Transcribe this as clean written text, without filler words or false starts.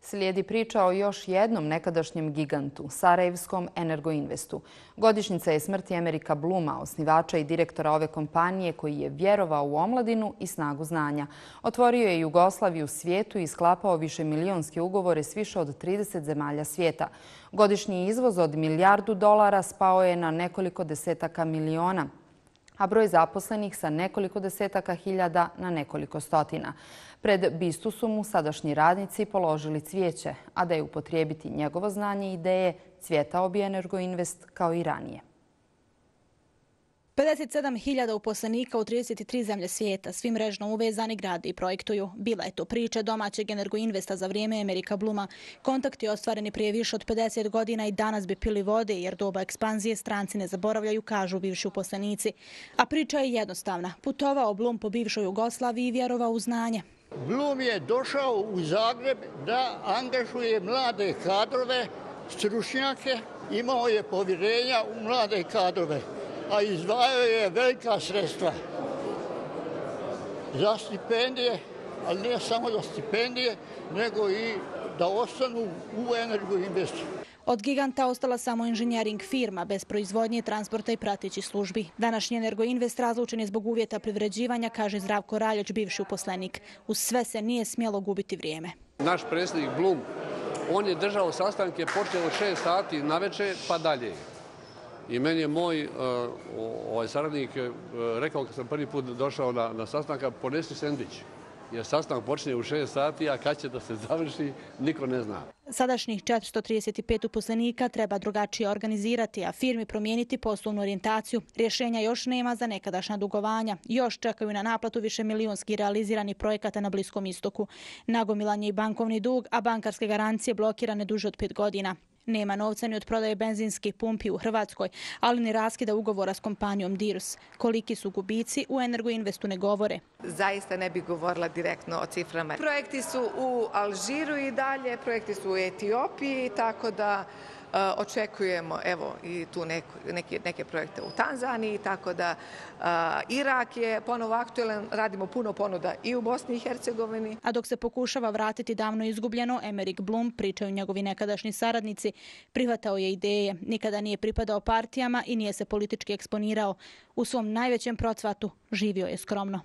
Slijedi priča o još jednom nekadašnjem gigantu, sarajevskom Energoinvestu. Godišnjica je smrti Amerika Bluma, osnivača i direktora ove kompanije koji je vjerovao u omladinu i snagu znanja. Otvorio je Jugoslaviju svijetu i sklapao višemilionske ugovore s više od 30 zemalja svijeta. Godišnji izvoz od $1 milijardu spao je na nekoliko desetaka miliona, a broj zaposlenih sa nekoliko desetaka hiljada na nekoliko stotina. Pred bistu su mu sadašnji radnici položili cvijeće, a da je upotrijebiti njegovo znanje i ideje, cvjetao bi Energoinvest kao i ranije. 57.000 uposlenika u 33 zemlje svijeta, svi mrežno uvezani, grade i projektuju. Bila je to priča domaćeg Energoinvesta za vrijeme Amerika Bluma. Kontakti ostvareni prije više od 50 godina i danas bi pili vode jer doba ekspanzije stranci ne zaboravljaju, kažu bivši uposlenici. A priča je jednostavna. Putovao Blum po bivšoj Jugoslaviji i vjerovao u znanje. Blum je došao u Zagreb da angažuje mlade kadrove, stručnjake, imao je povjerenja u mlade kadrove, a izdvajao je velika sredstva za stipendije, ali ne samo za stipendije, nego i da ostanu u Energoinvestu. Od giganta ostala samo inženjering firma, bez proizvodnje, transporta i pratećih službi. Današnji Energoinvest razlučen je zbog uvjeta privređivanja, kaže Zdravko Raljoć, bivši uposlenik. Uz sve se nije smjelo gubiti vrijeme. Naš predsjednik Blum, on je držao sastanke, počeo od 6 sati navečer pa dalje. I meni je moj saradnik rekao kad sam prvi put došao na sastanka, ponesi sendvič. Jer sastanak počne u 6 sati, a kad će da se završi, niko ne zna. Sadašnjih 435 uposlenika treba drugačije organizirati, a firmi promijeniti poslovnu orijentaciju. Rješenja još nema za nekadašnja dugovanja. Još čekaju na naplatu višemilionski realiziranih projekata na Bliskom istoku. Nagomilan je i bankovni dug, a bankarske garancije blokirane duže od 5 godina. Nema novca ni od prodaje benzinskih pumpi u Hrvatskoj, ali ni raskida ugovora s kompanijom Dirus. Koliki su gubici u Energoinvestu ne govore. Zaista ne bih govorila direktno o ciframa. Projekti su u Alžiru i dalje, projekti su u Etiopiji, tako da očekujemo i tu neke projekte u Tanzaniji, tako da Irak je ponovo aktualan, radimo puno ponuda i u Bosni i Hercegovini. A dok se pokušava vratiti davno izgubljeno, Amerik Blum, pričaju njegovi nekadašnji saradnici, prihvatao je ideje, nikada nije pripadao partijama i nije se politički eksponirao. U svom najvećem procvatu živio je skromno.